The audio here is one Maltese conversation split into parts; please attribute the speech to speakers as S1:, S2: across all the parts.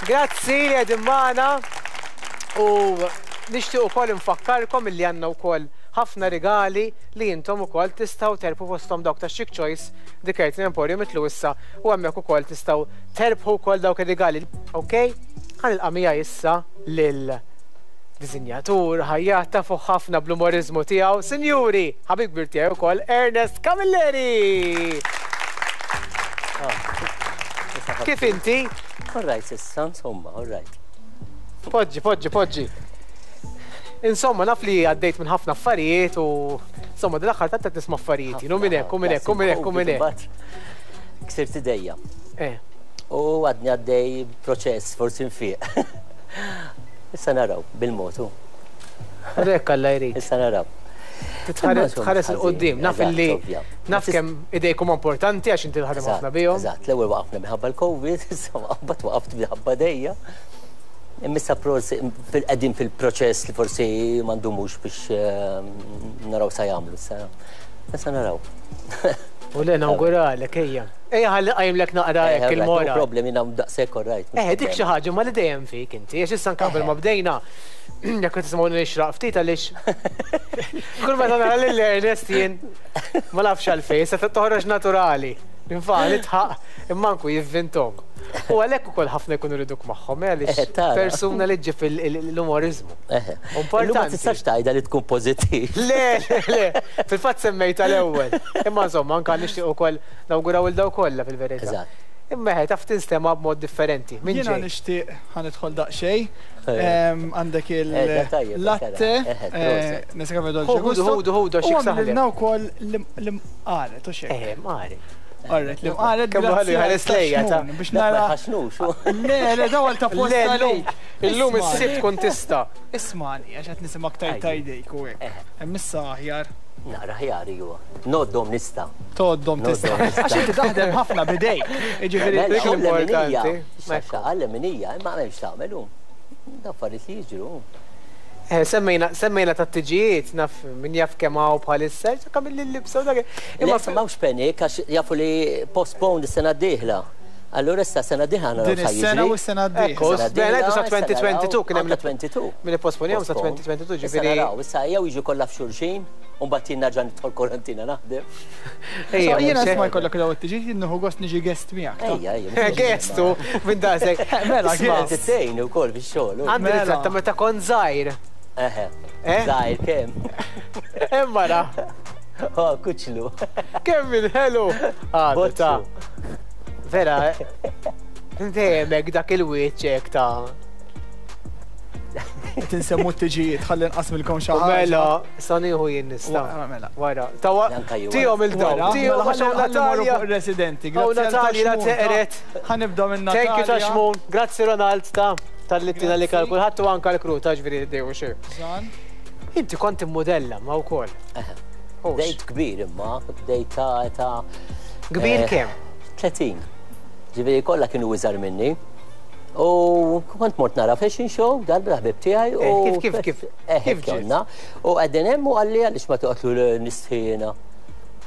S1: Grazzi li qegħdin magħna u nixtieq ukoll infakkarkom illi għandna wkoll ħafna rigali li intom ukoll tistgħu terbħu fosthom dawk ta' Chic Choice, The Curtain Emporium itlu issa u hemmhekk ukoll tistgħu terbħu wkoll dawk ir-rigali. Ok? Ħa nilqa' miegħi issa lil disinjatur, ħajjat tafuh ħafna bl-umoriżmu tiegħu, sinjuri, ħabib kbir tiegħi wkoll, Ernest Camilleri! Kif inti?
S2: All right, issa, insomma, all right.
S1: Poġġi, poġġi, poġġi. Insomma, naf li għaddejt minn ħafna affarijiet u insomma, dal-aħħar tant qed nisma' affarijiet, u minn hekk, u minn hekk, u minn hekk, u minn hekk.
S2: Ksirt idejja.
S1: Eh.
S2: U għadni għaddej proċess, forsi nfiq. Issa naraw, bil-motu.
S1: Hekk Alla jrid.
S2: Issa naraw.
S1: Tħares il-qoddim, naf li naf kemm idejkom importanti għax inti tħadem ħafna bihom.
S2: Eżatt, l-ewwel waqafna minħabba l-Covid, issa mbagħad waqaft minħabba dejja. Imma forsi qegħdin fil-proċess li forsi ma ndumux biex ehm, naraw sa jagħmlu issa. Issa naraw.
S1: U le nawguralek ejja. Ejja ħalli qajmlek naqra hekk il-moral.
S2: No problem jiena daqshekk all right.
S1: Eh, dik xi ħaġa ma li dejjem fik inti, għax issa anke qabel ma bdejna, jekk qed tisimgħuni nixraq ftit għaliex kull meta nara lil Ernest jien ma nafx għalfejn, se toħroġ naturali. Nfa' nidħaq imma anku jivvintom. U għalhekk ukoll ħafna jkunu riduk magħhom, eh, għaliex
S2: eh,
S1: persuna li ġġib l-umoriżmu.
S2: Importanti. Ma tistax tgħidha li tkun pożittiv.
S1: Le, le, fil-fatt semmejta l-ewwel. Imma insomma, anke nixtieq ukoll nawguraw il daw kollha fil-verità.
S2: Eżatt.
S1: Imma eħe taf tinstema' b'mod differenti. Min
S3: Jiena
S1: ġej?
S3: nixtieq ħa nidħol daqsxejn. Għandek il-latte, Nescafe Dolce
S1: Ħudu,
S3: Gusto.
S1: ħudu, ħudu, għax
S3: U
S1: jekk saħlek.
S3: għamlilna wkoll l-imqaret, u x'hekk.
S1: Eħe, mqaret.
S3: Alright, l-imqaret
S1: Kemm ħallu
S3: grazzi għal
S1: jħares lejja ta'
S3: Xmun biex
S2: Ma
S3: nara.
S2: jħaxnux.
S3: Le, le, daw għal ta'
S1: Le,
S3: posta
S1: llum,
S3: għalik.
S1: illum
S3: Ismagħni.
S1: is-Sibt tkun tista'.
S3: Ismagħni, għax qed nisimgħek tgħid ta' jdejk u hekk. Hemm issa aħjar.
S2: Naqra ħjar iwa. Noddhom nista'.
S3: Tgħoddhom tista'. Għax inti taħdem ħafna b'idejk. Jiġifieri
S2: Mela,
S1: dik l-importanti.
S2: Xaxa, għal leminija, imma m'hemmx tagħmel hu. Affarijiet li jiġru.
S1: Eh, semmejna, semmejna tat-tiġijiet, naf min jaf kemm hawn bħalissa, kemm il-libsa u dak.
S2: Imma m'hawnx panic għax jafu li postpone is-sena d-dieħla. Allura issa sena d-dieħla naraw
S3: Din is-sena u s-sena d-dieħla.
S1: Ekku, ngħidu sa 2022 kien hemm
S2: 22.
S1: Min ipposponihom sa 2022 ġifieri.
S2: Issa naraw, issa jew jiġu kollha f'xulxin. U mbagħad jien nerġa' nidħol kwarantina naħdem.
S1: Ejja,
S3: Jiena isma' jkollok daw it-tiġijiet jien nieħu gost niġi guest miegħek.
S2: Ejja, ejja.
S1: Guest u minn daqshekk.
S3: Mela,
S2: guest. Tgħin ukoll fix-xogħol.
S1: Għandi
S3: Mela.
S1: ritratt ta' meta kont żgħir.
S2: Eħe.
S1: Eh?
S2: Żgħir kemm?
S1: Hemm mara.
S2: Oh, kuċlu.
S1: Kemm minn ħelu. Għadu ta' Vera, dejjem hekk dak il-wiċċ hekk ta'
S3: Qed insemmu t-tiġijiet ħalli nqasmilkom xi ħaġa.
S1: Mela, sa nieħu jien nista'.
S3: Mela.
S1: Wara. Tawa tihom il-daw.
S3: Mela,
S1: Tihom għax hawn
S3: Natalja. Fuq residenti.
S1: Hawn Natalja la teqret.
S3: Ħa nibda minn Natalja.
S1: Thank you ta' Xmun. Grazzi Ronald ta' tal-li tina li kal kulħadd u anka l-kru ta' ġifieri dejjem xejn. Inti kont immodella ma wkoll.
S2: Bdejt kbir imma, bdejt ta' ta'
S1: Kbir
S2: eh,
S1: kemm?
S2: 30. Ġifieri kollha kienu iżgħar minni. U kont mort nara fashion show darba ħbib tiegħi u
S1: eh, kif kif kif
S2: eh, kif konna. U qegħdin hemm u qalli għaliex ma toqgħodlu nistħiena.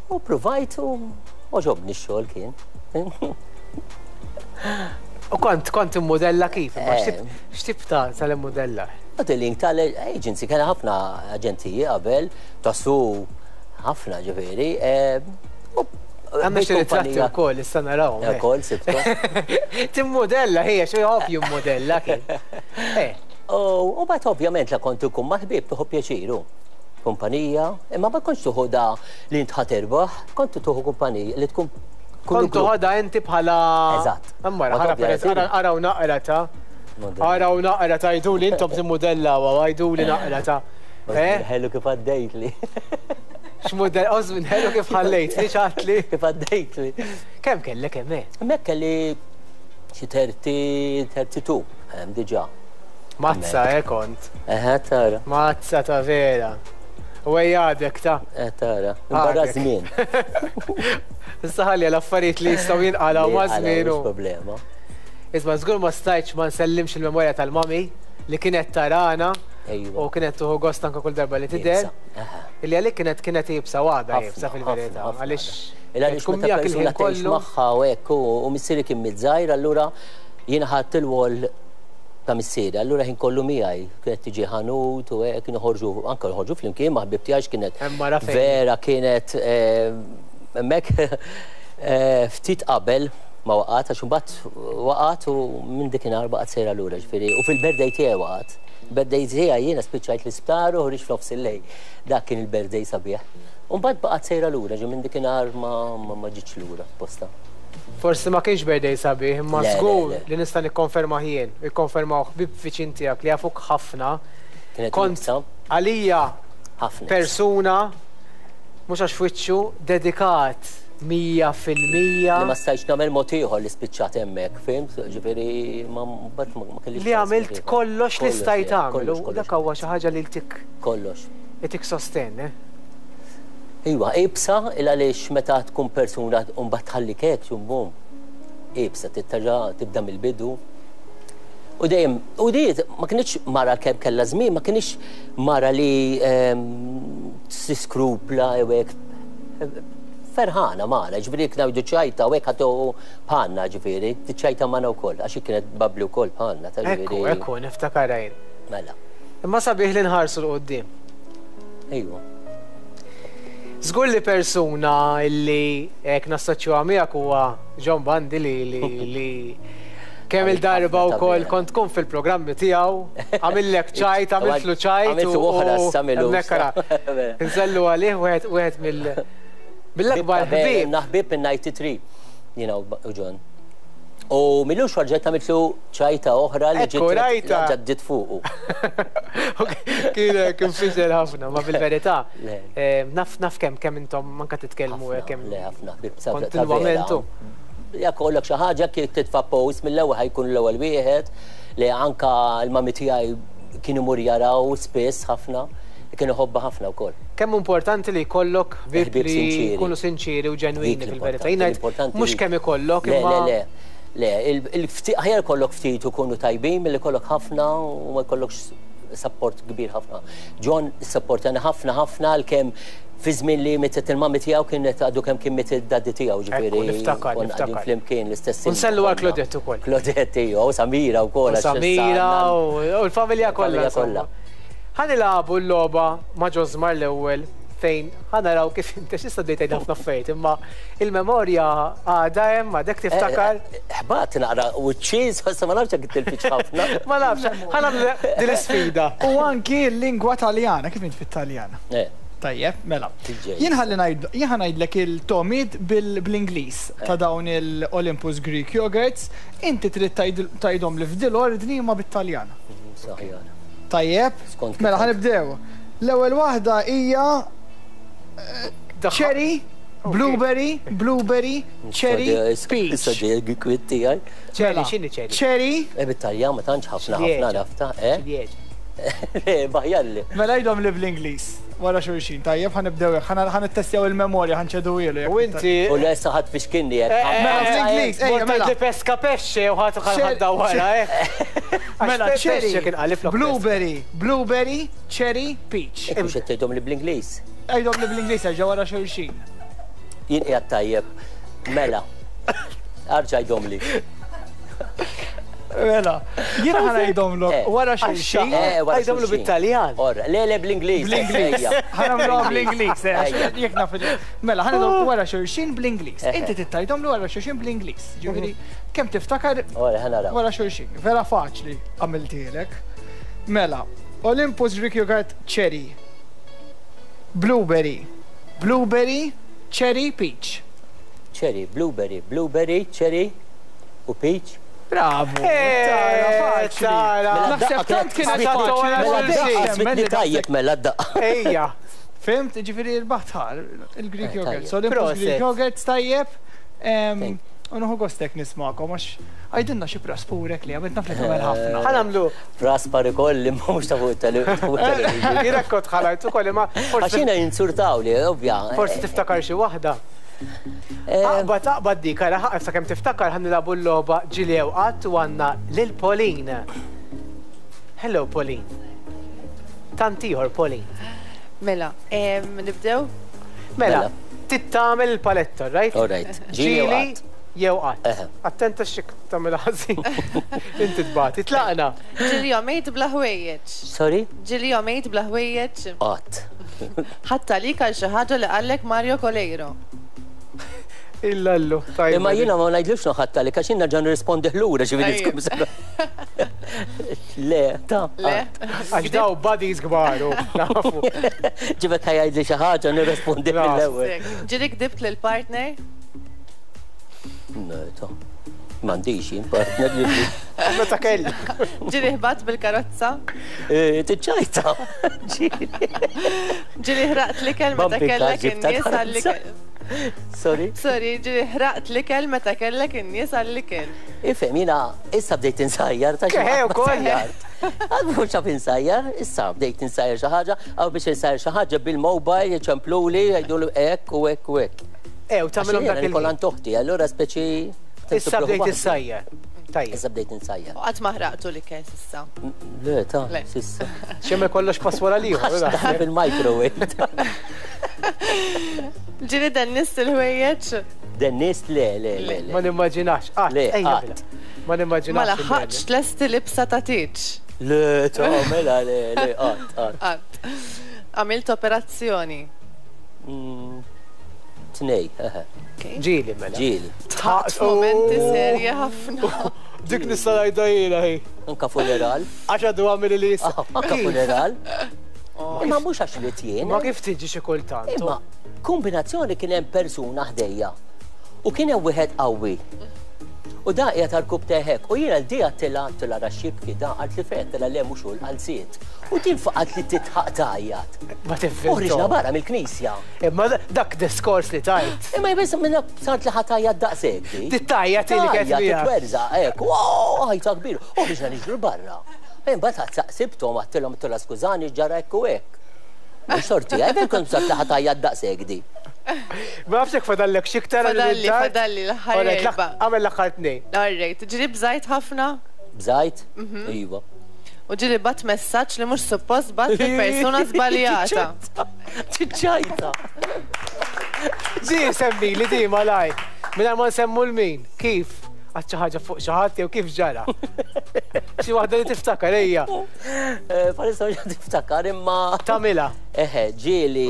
S2: U provajt u oġobni x-xogħol kien.
S1: U kont kont immodella kif?
S2: Eh.
S1: X'tip ta' tal-immodella?
S2: Modeling tal-agency kien ħafna aġenziji qabel, tasu ħafna ġifieri.
S1: Għandna xi ritratti wkoll issa narawhom.
S2: Eh. Ukoll sibtu.
S1: Timmodella hija xi ovvju modella kien.
S2: Eh. U mbagħad ovvjament la kont ikun ma' ħbieb tieħu pjaċiru. Kumpanija, imma ma kontx tuħu da li int ħa terbaħ, kont tuħu kumpanija li tkun
S1: Kont toħodha inti bħala.
S2: Eżatt.
S1: Ammara, araw naqra ta' Araw naqra ta' jgħiduli intom timmodella u għajduli naqra ta'
S2: Eh? Ħelu kif għaddejtli.
S1: X'mudell, oż minn ħelu kif ħallejtli, ċatli.
S2: Kif għaddejtli.
S1: Kemm kellek hemm? Eh?
S2: Hemmhekk kelli xi 30, 32, hemm diġà.
S1: Mazza, eh, kont.
S2: Eħe, tara.
S1: Mazza ta' vera. U ejja għadek ta'.
S2: Eh, tara. Barra żmien.
S1: Issa ħalli l-affarijiet li jistgħu jinqalgħu ma' żmien.
S2: problema.
S1: Isma' żgur ma stajtx ma nsellimx il-memorja tal-mami li kienet tarana u kienet tuħu gost anke kull darba li tidher. Illi għalik kienet kienet iebsa u għadha iebsa fil-verità. Għaliex
S2: għaliex
S1: tkun
S2: meta
S1: miegħek
S2: persuna
S1: il-ħin
S2: tgħix
S1: kollu.
S2: magħha u hekk u missieri kien miet żgħir allura jiena ħadt il-wol ta' missieri, allura ħin kollu miegħi, kienet tiġi ħanut u hekk noħorġu, anke noħorġu flimkien ma' ħbieb tiegħi kienet vera kienet hemmhekk ftit qabel ma waqgħet għax imbagħad waqgħet u minn dikinhar baqgħet sejra lura ġifieri u fil-birthday tiegħi waqgħet. Birthday tiegħi jiena spiċċajt l-isptar u ħriġt f'nofs il-lejl. Dak kien il-birthday sabiħ. U mbagħad baqgħet sejra lura, ġi minn dikinhar ma ġietx lura posta.
S1: Forsi ma kienx birthday sabiħ, imma żgur li nista' nikkonfermah jien, u jikkonfermawh ħbieb viċin tiegħek li jafuk ħafna. Kont għalija persuna, mhux għax f'wiċċu, dedikat 100%.
S2: Li ma stajtx nagħmel mod ieħor li spiċċat hemmhekk, fhimt? Ġifieri ma mbagħad ma kellix.
S1: Li għamilt kollox li stajt tagħmel u dak huwa xi ħaġa li ltik.
S2: Kollox.
S1: Itik sostenn, eh?
S2: Iwa, iebsa il għaliex meta tkun persuna u mbagħad tħallik hekk xum bum. Iebsa, trid terġa' tibda mill-bidu. U dejjem, u di ma kinitx mara kemm kellha żmien, ma kinitx mara li tiskrupla jew hekk. Ferħana magħna, ġifieri jekk ngħidu ċajta u hekk ħa tieħu bħalna ġifieri, tiċċajta magħna wkoll għax hi kienet bubbly wkoll bħalna, ta' ġifieri.
S1: Ekku, ekku, niftakarha jien.
S2: Mela.
S1: Imma sabiħ li nħarsu 'l quddiem.
S2: Ejwa.
S1: Żgur li persuna li hekk nassoċjuha miegħek huwa John Bundy li li li kemm il-darba wkoll kont tkun fil-programmi tiegħu, għamillek ċajt, għamiltlu ċajt.
S2: Għamiltu oħra issa milu.
S1: Hemmhekk ara. Nsellu għalih wieħed wieħed mill mill-akbar ħbieb.
S2: Ħbieb minn 93 jiena u John. U milux ġejt għamiltlu ċajta oħra li ġiet ġaddit fuqu.
S1: Kien kien fiżel ħafna, ma fil-verità. Naf naf kemm kemm intom anke titkellmu kemm.
S2: Le ħafna ħbieb kontinwament. Jekk kollok xi ħaġa kif titfa' post mill-ewwel ħajkun l-ewwel wieħed li anka l-mami tiegħi kien imur jaraw spiss ħafna, kien iħobbha ħafna wkoll.
S1: Kemm hu importanti li jkollok ħbieb li jkunu sinċieri u ġenwini fil-verità. Jien ngħid mhux kemm ikollok imma.
S2: Le, le, le. Le, aħjar ikollok ftit u jkunu tajbin milli jkollok ħafna u ma jkollokx sapport kbir ħafna. John issapportjani ħafna ħafna għalkemm fi żmien li mietet il-mami tiegħu kienet għadu kemm kien miet id-daddy tiegħu ġifieri.
S1: Niftakar, niftakar.
S2: Flimkien l-istess.
S1: U nsellu għal Claudette ukoll.
S2: Claudette ijwa, u Samira wkoll.
S1: U Samira u l-familja kollha.
S2: kollha.
S1: Ħa nilagħbu l-logħba ma' Josmar l-ewwel fejn ħa naraw kif inti x'issa bdejt tgħid ħafna affarijiet imma il-memorja għadha hemm għadek tiftakar.
S2: Ħbat naqra wiċċi, issa ma nafx jekk tilfitx ħafna.
S1: Ma nafx, ħa nagħmlu din l-isfida.
S3: U anki l-lingwa Taljana, kif int fit-Taljan? Tajjeb, mela. Jien ħalli ngħid, jien ħa ngħidlek il-togħmiet bl-Ingliż ta' dawn il-Olympus Greek Yogurts, inti trid tgħidhomli f'dil-ordni imma bit-Taljan.
S2: Aħjar.
S3: Tajjeb?
S2: Skont kif
S3: Mela ħa nibdew. L-ewwel waħda hija cherry, blueberry, blueberry, cherry, peach.
S2: Issa ġej il-kwit tiegħi.
S1: Cherry,
S3: Mela,
S1: x'inhi cherry?
S3: Cherry.
S2: Eh bit-Taljan ma tantx ħafna ħafna nafta, eh?
S1: Ċilieġa.
S2: Le, baħjalli.
S3: Mela għidhom li bl-Ingliż wara xulxin, tajjeb ħa nibdew hekk, ħa nittestjaw il-memorja, ħa nċeduhielu jekk.
S1: U inti.
S2: U le issa ħadd fixkinni hekk.
S3: Mela bl-Ingliż, ejja mela.
S1: Mort tgħidli pesca pesce u ħadd ħadda wara, eh.
S3: Mela cherry, blueberry, blueberry, cherry, peach.
S2: Hekk mhux qed tgħidhom li bl-Ingliż.
S3: Għidhom li bl-Ingliż erġa' wara xulxin.
S2: Jien qiegħed tajjeb. Mela. Arġa' għidhomli.
S3: Mela, jiena ħa ngħidhomlok eh. wara xulxin.
S2: Eh,
S1: għidhomlu bit-Taljan.
S2: Le, le, bl-Ingliż.
S3: Bl-Ingliż. Ħa nagħmluha bl-Ingliż, eh, jekk naf Mela, ħa ngħidhom wara xulxin bl-Ingliż. Inti tittajdomlu wara xulxin bl-Ingliż. Ġifieri, kemm tiftakar wara xulxin. Vera faċli għamiltielek. Mela, Olympus Greek Yogurt Cherry. Blueberry. Blueberry, cherry, peach.
S2: Cherry, blueberry, blueberry, cherry u peach.
S3: Bravo! Tara, faċli.
S2: Mela
S3: Naħseb tant kienet faċli.
S2: Mela d-daqqa, smitni tajjeb mela d-daqqa.
S1: Ejja.
S3: Fimt, ġifiri l-baħtar, il-Greek yogurt. So l-Greek yogurt tajjeb. U nieħu gost hekk nismagħkom għax għidilna xi praspurek li għamilt naf li tagħmel ħafna.
S1: Ħa nagħmlu.
S2: Praspar ikolli imma mhux ta' fuq it-television.
S1: Jien hekk kont ħalajt ukoll imma forsi.
S2: Għax jiena jinsurtawli, ovvja.
S1: Forsi tiftakar xi waħda. Aqbad, aqbad dik, ara ħa sakemm tiftakar ħa nilagħbu l-logħba ġieli jew qatt u għandna lil Pauline. Hello Pauline. Tant ieħor Pauline.
S4: Mela, nibdew?
S1: Mela. Trid tagħmel il-paletta, right?
S2: All right.
S1: Ġieli Jew qatt. Attenta x'jekk tagħmilha ħażin. Inti tbati. Tlaqna.
S4: Ġieli għomejt bla ħwejjeġ.
S2: Sorry?
S4: Ġieli għomejt bla ħwejjeġ.
S2: Qatt.
S4: Ħadt għalik għal xi ħaġa li qallek Mario Coleiro.
S1: Illallu, tajba.
S2: Imma jiena ma ngħidlux ħadd għalik għax jien nerġa' nirrispondih lura ġifieri tkun Le, ta.
S4: Le.
S1: Għax daw buddies kbar u nafu.
S2: Ġibek ħajajdli xi ħaġa nirrispondi mill-ewwel.
S4: Ġieli kdibt lill-partner?
S2: Le, ta. M'għandix jien partner li.
S1: Meta kelli.
S4: Ġieli ħbat bil-karozza?
S2: Eh, tiċċajta. Ġieli.
S4: Ġieli ħraqt l-ikel meta kellek in-nies għall-ikel.
S2: Sorry?
S4: Sorry, ġieli ħraqt l-ikel meta kellek in-nies għall-ikel.
S2: Ifhem, jiena issa bdejt insajjar ta' xi.
S1: ukoll.
S2: Għad mhux xaf insajjar, issa bdejt insajjar xi ħaġa, għaw biex insajjar xi ħaġa bil-mobile jċempluli jgħidulu hekk u hekk u hekk.
S1: Ew, tagħmilhom dak
S2: il Kolan toħti, allura speċi.
S1: Issa bdejt issajjar. Tajjeb.
S2: Issa bdejt insajjar.
S4: U qatt ma ħraqtu l-ikel s'issa.
S2: Le, ta' s'issa.
S1: Xemel kollox pass wara l-ieħor.
S2: Fil-microwave.
S4: Ġieli dennist il-ħwejjeġ?
S2: Dennist le, le, le.
S1: Ma nimmaġinax.
S2: Le, qatt.
S1: Ma nimmaġinax.
S4: Ma laħħaqtx tlesti libsa ta' tieġ.
S2: Le, ta' mela le, le, qatt, qatt.
S4: Qatt. Għamilt operazzjoni.
S2: Mm, tnej, eħe.
S1: Ġieli mela.
S2: Ġieli.
S4: Tħaqt momenti serji ħafna.
S1: Dik nista' ngħidha jiena hi.
S2: Anka funeral.
S1: Għax għadu għamil li jista.
S2: Ah, anka funeral.
S4: Oh.
S2: Imma mhux għax li jien.
S1: Ma kif tiġi xi kultant.
S2: Imma kombinazzjoni kien hemm persuna ħdejja u kien hemm wieħed qawwi. U da qiegħed għall-kub teħek u jiena l-di għattilha għattilha ra xibki da qalt li fejn għattilha le mhux hu l-qalziet. U din faqat li titħaq tgħajjat.
S1: Ma tifhimx.
S2: U ħriġna barra mill-knisja.
S1: Imma dak diskors li tajt.
S2: Imma jbiss minna sart li ħatajja daqshekk di.
S1: Tittajja ti li kienet
S2: Titwerża hekk. Wow, ħajta kbir. U ħriġna niġru barra. Imbagħad saqsibthom għattilhom għattilha skużani ġara hekk u hekk. Mhux sorti, għajbel kont sart li ħatajja daqshekk di.
S1: Ma nafx jekk fadallek xi iktar.
S4: Fadalli, fadalli l-aħħar.
S1: Għamel l-aħħar tnejn.
S4: Alright, ġieli bżajt ħafna?
S2: Bżajt? Mhm. Iva.
S4: U ġieli bat messaġġ li mhux suppost bat lill-persuna żbaljata.
S2: Ċiċċajta.
S1: Ġi semmi li di malaj. Mingħajr ma nsemmu l-min. Kif? Għad xi ħaġa fuq xi ħadd jew kif ġara? Xi waħda li tiftakar ejja.
S2: Eh, Palissa mhux tiftakar imma.
S1: Tagħmilha.
S2: Eħe, ġieli,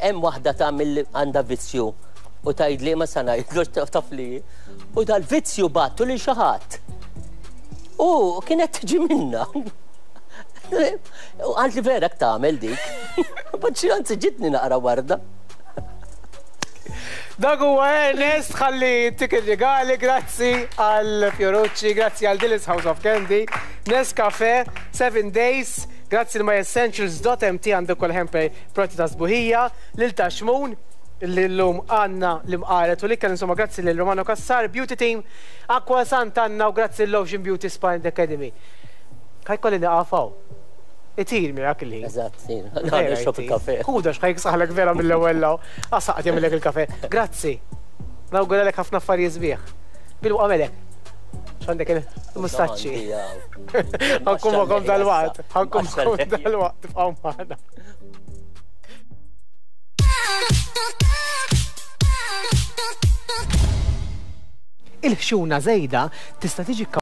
S2: hemm waħda tagħmel għandha vizzju u tgħidli ma sa ngħidlu taf li. U dal-vizzju battu lil xi ħadd. U kienet tiġi minna. U għalt li vera tagħmel dik. Baċċi anzi ġitni naqra warda.
S1: Dak huwa Ernest ħalli tik ir-rigali, grazzi għal Fiorucci, grazzi għal Dillis House of Candy, Nescafe, 7 Days, Grazzi l-myessentials.mt għandu kol hamper prodotti ta' sbuħija, lil Taxmun li llum għandna l-imqaret u l-ikel, insomma grazzi lil Romano Cassar, Beauty Team, Aqua Sant'Anna u grazzi l-Ocean Beauty Spa and Academy. Ħa jkolli nieqaf hawn. Itir miegħek il-ħin.
S2: Eżatt, nixrob il-kafe.
S1: Ħuda x'ħajk saħlek vera mill-ewwel law. Għasaqt jagħmilek il-kafe. Grazzi. Nawguralek ħafna affarijiet sbieħ. Bil-waqa melek. X'għandek il-mustaċċi. Ħankun magħkom dal-waqt. Ħankun magħkom dal-waqt tibqgħu magħna. Il-ħxuna żejda tista' tiġi.